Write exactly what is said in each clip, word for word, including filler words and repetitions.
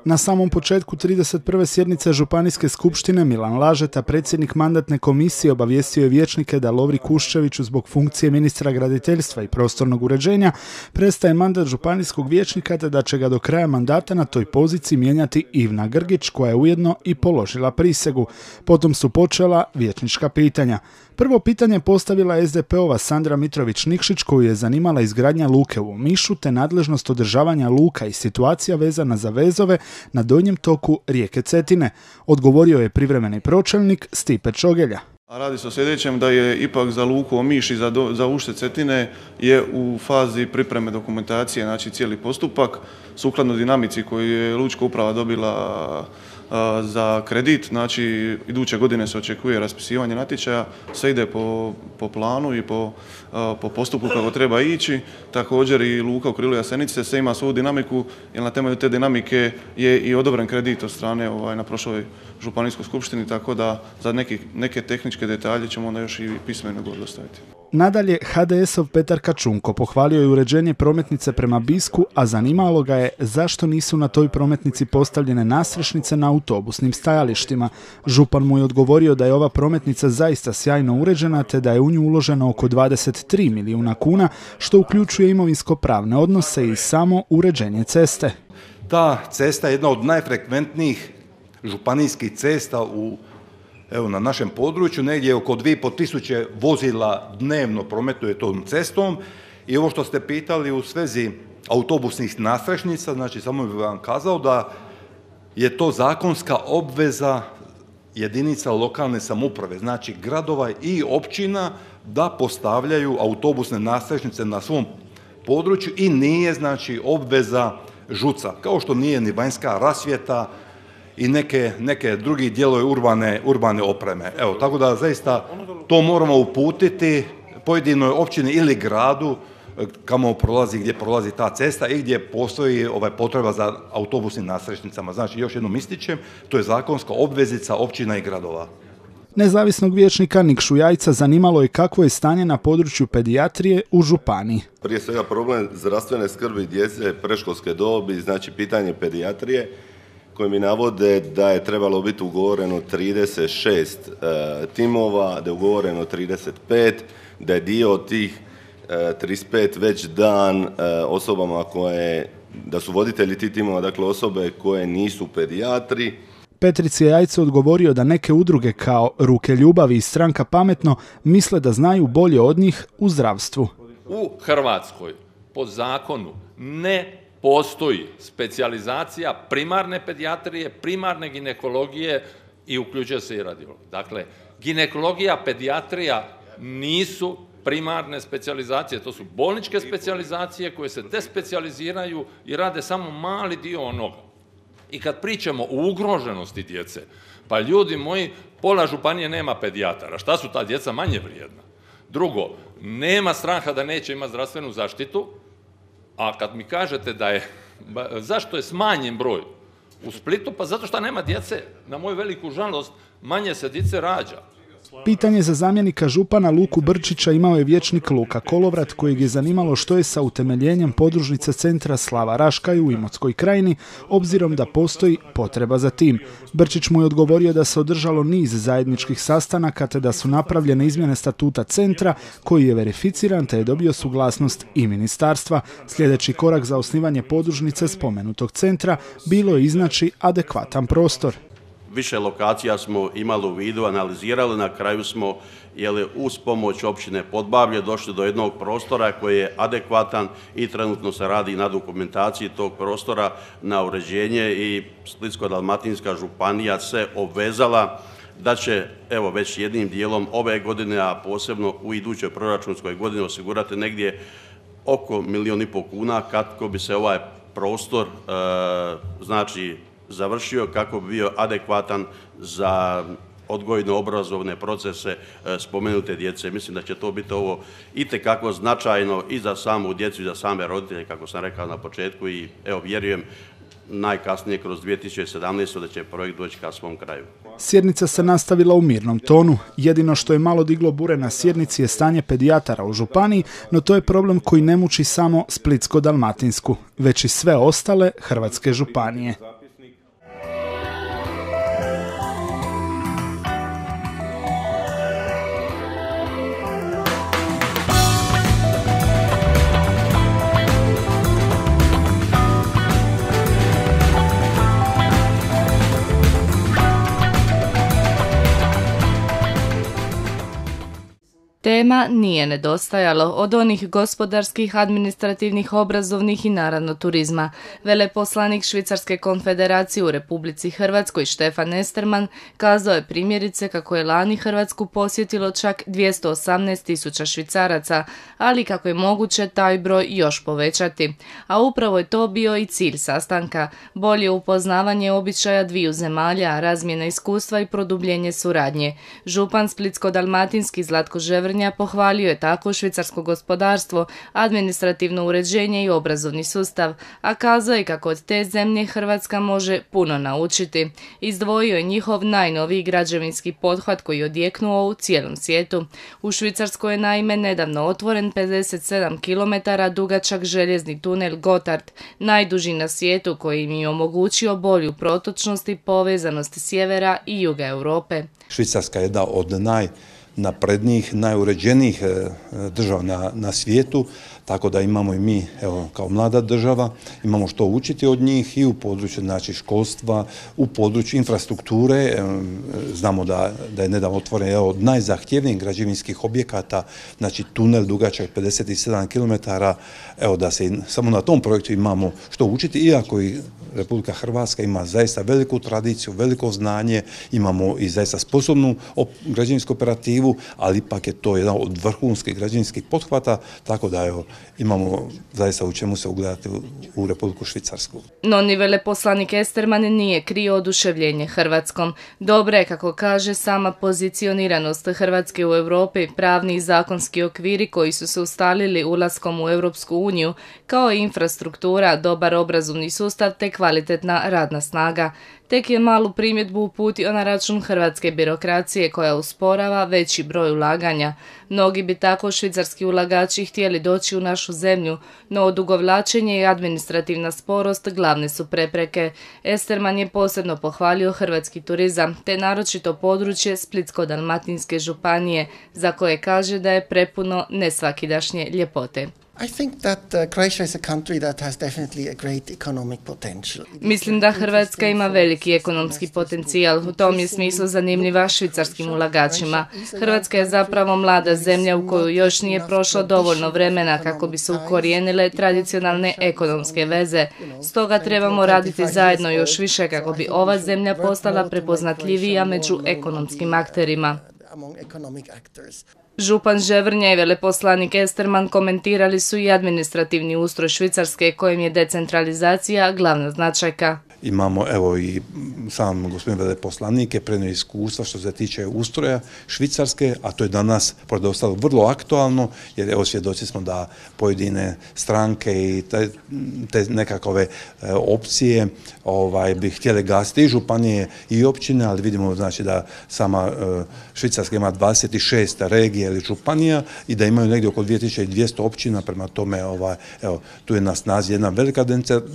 Na samom početku trideset prve sjednice Županijske skupštine Milan Lažeta, predsjednik mandatne komisije, obavijestio je vijećnike da Lovri Kuščeviću zbog funkcije ministra graditeljstva i prostornog uređenja prestaje mandat županijskog vijećnika te da će ga do kraja mandata na toj poziciji mijenjati Ivna Grgić, koja je ujedno i položila prisegu. Potom su počela vijećnička pitanja. Prvo pitanje postavila es de pe ova Sandra Mitrović-Nikšić, koju je zanimala izgradnja luke u Omišu te nadležnost održavanja luka i situacija vezana za vezove na donjem toku rijeke Cetine. Odgovorio je privremeni pročelnik Stipe Čogelja. A radi se o sljedećem, da je ipak za luku Omiš i za, do, za ušće Cetine je u fazi pripreme dokumentacije, znači cijeli postupak, sukladno dinamici koju je Lučka uprava dobila a, za kredit. Znači, iduće godine se očekuje raspisivanje natječaja, sve ide po, po planu i po, a, po postupku kako treba ići. Također i luka u Krilu Jasenice se ima svoju dinamiku, jer na temelju te dinamike je i odobren kredit od strane ovaj, na prošloj županijskoj skupštini, tako da za neki, neke tehničke detalje ćemo onda još i pismeno dostaviti. Nadalje, ha de esov Petar Kačunko pohvalio je uređenje prometnice prema Bisku, a zanimalo ga je zašto nisu na toj prometnici postavljene nasrešnice na autobusnim stajalištima. Župan mu je odgovorio da je ova prometnica zaista sjajno uređena te da je u nju uloženo oko dvadeset tri milijuna kuna, što uključuje imovinsko-pravne odnose i samo uređenje ceste. Ta cesta je jedna od najfrekventnijih županijskih cesta u Evo, na našem području, negdje oko dvije i pol tisuće vozila dnevno prometuje tom cestom. I ovo što ste pitali u svezi autobusnih nasrešnica, znači samo bih vam kazao da je to zakonska obveza jedinica lokalne samouprave, znači gradova i općina, da postavljaju autobusne nasrešnice na svom području i nije znači obveza žuca, kao što nije ni vanjska rasvjeta i neke, neke drugi dijelove urbane, urbane opreme. Evo, tako da zaista to moramo uputiti pojedinoj općini ili gradu kamo prolazi, gdje prolazi ta cesta i gdje postoji ovaj, potreba za autobusnim nasrešnicama. Znači, još jednom ističem, to je zakonska obvezica općina i gradova. Nezavisnog vijećnika Nikšu Jajca zanimalo je kakvo je stanje na području pedijatrije u županiji. Prije svega problem zdravstvene skrbi djece predškolske dobi, znači pitanje pedijatrije, koji mi navode da je trebalo biti ugovoreno trideset šest e, timova, da je ugovoreno trideset pet, da je dio od tih e, trideset pet već dan e, osobama koje, da su voditelji tih timova, dakle osobe koje nisu pedijatri. Petrici je Jajce odgovorio da neke udruge kao Ruke ljubavi i Stranka pametno misle da znaju bolje od njih u zdravstvu. U Hrvatskoj po zakonu ne postoji specijalizacija primarne pedijatrije, primarne ginekologije i uključuje se i radiologija. Dakle, ginekologija, pedijatrija nisu primarne specijalizacije, to su bolničke specijalizacije koje se despecijaliziraju i rade samo mali dio onoga. I kad pričamo o ugroženosti djece, pa ljudi moji, pola županije nema pedijatara. Šta su ta djeca manje vrijedna? Drugo, nema straha da neće imati zdravstvenu zaštitu. A kad mi kažete da je, zašto je smanjen broj u Splitu? Pa zato što nema djece, na moju veliku žalost, manje se djece rađa. Pitanje za zamjenika župana Luku Brčića imao je vijećnik Luka Kolovrat, kojeg je zanimalo što je sa utemeljenjem podružnice centra Slava Raškaj u Imotskoj krajini, obzirom da postoji potreba za tim. Brčić mu je odgovorio da se održalo niz zajedničkih sastanaka te da su napravljene izmjene statuta centra, koji je verificiran te je dobio suglasnost i ministarstva. Sljedeći korak za osnivanje podružnice spomenutog centra bilo je iznaći adekvatan prostor. Više lokacija smo imali u vidu, analizirali, na kraju smo jeli, uz pomoć općine Podbablje došli do jednog prostora koji je adekvatan i trenutno se radi na dokumentaciji tog prostora na uređenje i Splitsko-dalmatinska županija se obvezala da će evo već jednim dijelom ove godine, a posebno u idućoj proračunskoj godini osigurati negdje oko milijun i pol kuna kako bi se ovaj prostor e, znači završio, kako bi bio adekvatan za odgojno-obrazovne procese spomenute djece. Mislim da će to biti ovo itekako značajno i za samu djecu i za same roditelje, kako sam rekao na početku, i evo vjerujem najkasnije kroz dvije tisuće sedamnaestu da će projekt doći ka svom kraju. Sjednica se nastavila u mirnom tonu. Jedino što je malo diglo bure na sjednici je stanje pedijatara u županiji, no to je problem koji ne muči samo Splitsko-dalmatinsku, već i sve ostale hrvatske županije. tema nije nedostajalo od onih gospodarskih, administrativnih, obrazovnih i naravno turizma. Veleposlanik Švicarske konfederacije u Republici Hrvatskoj Štefan Esterman kazao je primjerice kako je lani Hrvatsku posjetilo čak dvjesto osamnaest tisuća Švicaraca, ali kako je moguće taj broj još povećati. A upravo je to bio i cilj sastanka, bolje upoznavanje običaja dviju zemalja, razmjena iskustva i produbljenje suradnje. Župan Splitsko-dalmatinski Zlatko Ževrnja pohvalio je tako švicarsko gospodarstvo, administrativno uređenje i obrazovni sustav, a kazao je kako od te zemlje Hrvatska može puno naučiti. Izdvojio je njihov najnoviji građevinski pothvat koji je odjeknuo u cijelom svijetu. U Švicarskoj je naime nedavno otvoren pedeset sedam kilometara dugačak željezni tunel Gotthard, najduži na svijetu koji im je omogućio bolju protočnost i povezanost sjevera i juga Europe. Švicarska je jedna od najnaprednijih, najuređenijih država na, na svijetu, tako da imamo i mi, evo, kao mlada država, imamo što učiti od njih i u području, znači, školstva, u području infrastrukture. Znamo da, da je nedavno otvoren jedan od najzahtjevnijih građevinskih objekata, znači tunel dugačak pedeset sedam kilometara, evo, da se samo na tom projektu imamo što učiti, iako i Republika Hrvatska ima zaista veliku tradiciju, veliko znanje, imamo i zaista sposobnu građevinsku operativu, ali ipak je to jedan od vrhunskih građevinskih pothvata, tako da, evo, imamo zaista u čemu se ugledati u, u Republiku Švicarsku. No ni veleposlanik Esterman nije krio oduševljenje Hrvatskom. Dobro je, kako kaže, sama pozicioniranost Hrvatske u Europi, pravni i zakonski okviri koji su se ustalili ulaskom u Europsku uniju, kao i infrastruktura, dobar obrazovni sustav te kvalitetna radna snaga. Tek je malu primjedbu uputio na račun hrvatske birokracije koja usporava veći broj ulaganja. Mnogi bi tako švicarski ulagači htjeli doći u našu zemlju, no odugovlačenje i administrativna sporost glavne su prepreke. Esterman je posebno pohvalio hrvatski turizam, te naročito područje Splitsko-dalmatinske županije, za koje kaže da je prepuno nesvakidašnje ljepote. I think that uh, Croatia is a country that has definitely a great economic potential. Mislim da Hrvatska ima veliki ekonomski potencijal. U tom je smislu zanimljiva švicarskim ulagačima. Hrvatska je zapravo mlada zemlja u koju još nije prošlo dovoljno vremena kako bi se ukorijenile tradicionalne ekonomske veze. Stoga trebamo raditi zajedno još više kako bi ova zemlja postala prepoznatljivija među ekonomskim akterima. Župan Ževrnja i veleposlanik Esterman komentirali su i administrativni ustroj Švicarske kojem je decentralizacija glavna značajka. Imamo, evo, i sam gospodin veleposlanik je prenio iskustva što se tiče ustroja Švicarske, a to je danas, pored ostalog, vrlo aktualno, jer evo svjedoci smo da pojedine stranke i te, te nekakove e, opcije ovaj, bi htjele gasiti i županije i općine, ali vidimo, znači, da sama e, Švicarska ima dvadeset šest regija ili županija i da imaju negdje oko dvije tisuće dvjesto općina, prema tome, ovaj, evo, tu je na snazi jedna velika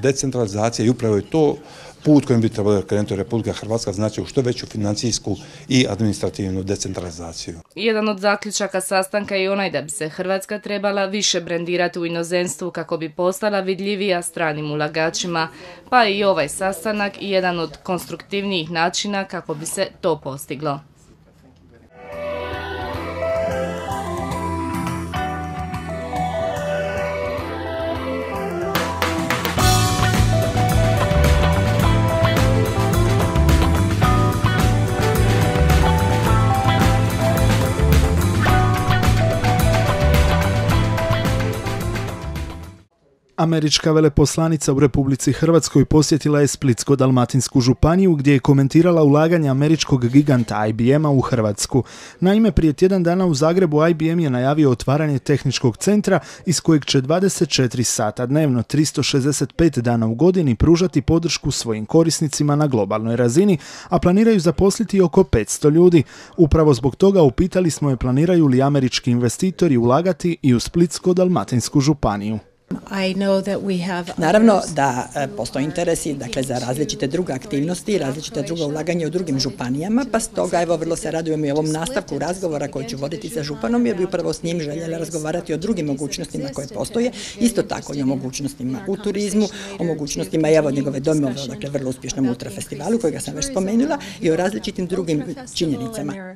decentralizacija i upravo je to put kojim bi trebala krenuti Republika Hrvatska, znači u što veću financijsku i administrativnu decentralizaciju. Jedan od zaključaka sastanka je onaj da bi se Hrvatska trebala više brendirati u inozemstvu kako bi postala vidljivija stranim ulagačima, pa i ovaj sastanak i jedan od konstruktivnijih načina kako bi se to postiglo. Američka veleposlanica u Republici Hrvatskoj posjetila je Splitsko-dalmatinsku županiju gdje je komentirala ulaganje američkog giganta I B M-a u Hrvatsku. Naime, prije tjedan dana u Zagrebu I B M je najavio otvaranje tehničkog centra iz kojeg će dvadeset četiri sata dnevno, tristo šezdeset pet dana u godini pružati podršku svojim korisnicima na globalnoj razini, a planiraju zaposliti oko petsto ljudi. Upravo zbog toga upitali smo je planiraju li američki investitori ulagati i u Splitsko-dalmatinsku županiju. Naravno da postoji interesi, dakle, za različite druge aktivnosti, različite druga ulaganja u drugim županijama, pa stoga evo vrlo se radujem i ovom nastavku razgovora koji ću voditi sa županom, jer bi upravo s njim željela razgovarati o drugim mogućnostima koje postoje, isto tako i o mogućnostima u turizmu, o mogućnostima evo njegove dojmove, dakle vrlo uspješnom ultrafestivalu kojega sam već spomenula, i o različitim drugim činjenicama.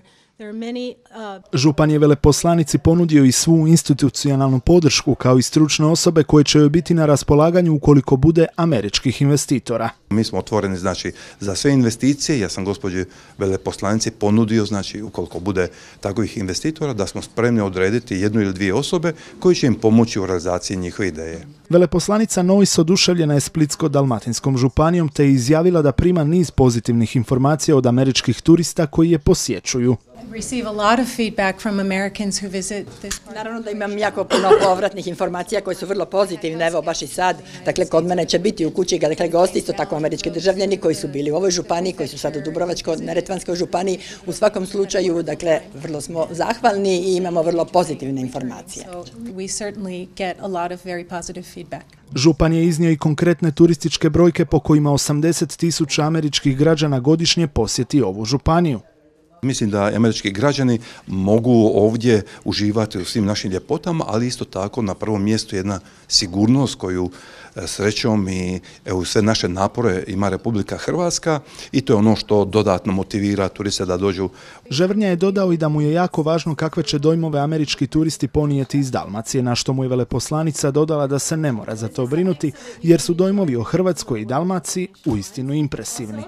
Župan je veleposlanici ponudio i svu institucionalnu podršku kao i stručne osobe koje će joj biti na raspolaganju ukoliko bude američkih investitora. Mi smo otvoreni znači za sve investicije. Ja sam gospođi veleposlanici ponudio znači ukoliko bude takovih investitora da smo spremni odrediti jednu ili dvije osobe koji će im pomoći u realizaciji njihove ideje. Veleposlanica Nois oduševljena je Splitsko-dalmatinskom županijom te je izjavila da prima niz pozitivnih informacija od američkih turista koji je posjećuju. Naravno da imam jako puno povratnih informacija koje su vrlo pozitivne, evo baš i sad, dakle kod mene će biti u kući dakle gosti, isto tako američki državljani koji su bili u ovoj županiji, koji su sad u Dubrovačko-neretvanskoj županiji, u svakom slučaju, dakle, vrlo smo zahvalni i imamo vrlo pozitivne informacije. Župan je iznio i konkretne turističke brojke po kojima osamdeset tisuća američkih građana godišnje posjeti ovu županiju. Mislim da američki građani mogu ovdje uživati u svim našim ljepotama, ali isto tako na prvom mjestu jedna sigurnost koju srećom i evo, sve naše napore ima Republika Hrvatska i to je ono što dodatno motivira turiste da dođu. Ževrnja je dodao i da mu je jako važno kakve će dojmove američki turisti ponijeti iz Dalmacije, na što mu je veleposlanica dodala da se ne mora za to brinuti jer su dojmovi o Hrvatskoj i Dalmaciji uistinu impresivni.